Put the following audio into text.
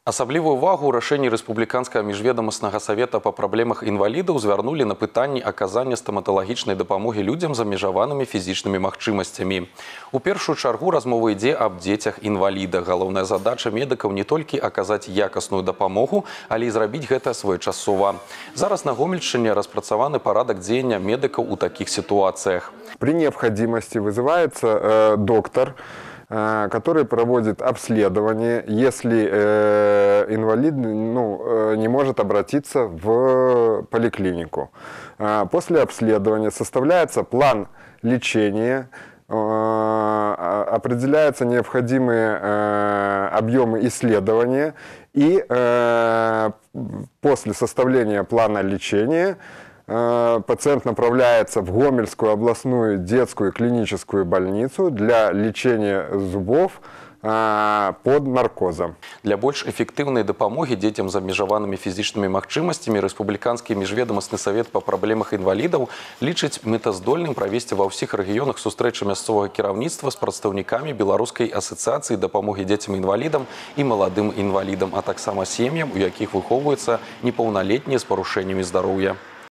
Асаблівую увагу ў рашэнні рэспубліканскага міжведамаснага савета па праблемах інвалідаў звярнулі на пытанні аказання стаматалагічнай дапамогі людзям з абмежаванымі фізічнымі магчымасцямі. У першую чаргу размова ідзе аб дзецях-інвалідах. Галоўная задача медыкаў не толькі аказаць якасную дапамогу, але і зрабіць гэта своечасова. Зараз на Гомельшчыне распрацаваны парадак дзеяння медыкаў у такіх ситуациях. При необходимости вызывается доктор, который проводит обследование, если инвалид не может обратиться в поликлинику. После обследования составляется план лечения, определяются необходимые объемы исследования, и после составления плана лечения пациент направляется в Гомельскую областную детскую клиническую больницу для лечения зубов под наркозом. Для больш эфектыўнай дапамогі дзецям з абмежаванымі фізічнымі магчымасцямі рэспубліканскі міжведамасны савет па праблемах інвалідаў лічыць мэтаздольным правесці ва ўсіх рэгіёнах сустрэчы мясцовага кіраўніцтва з прадстаўнікамі беларускай асацыяцыі дапамогі дзецям-інвалідам і маладым інвалідам, а таксама сем'ям, у якіх выхоўваюцца непаўналетнія з парушэннямі здароўя.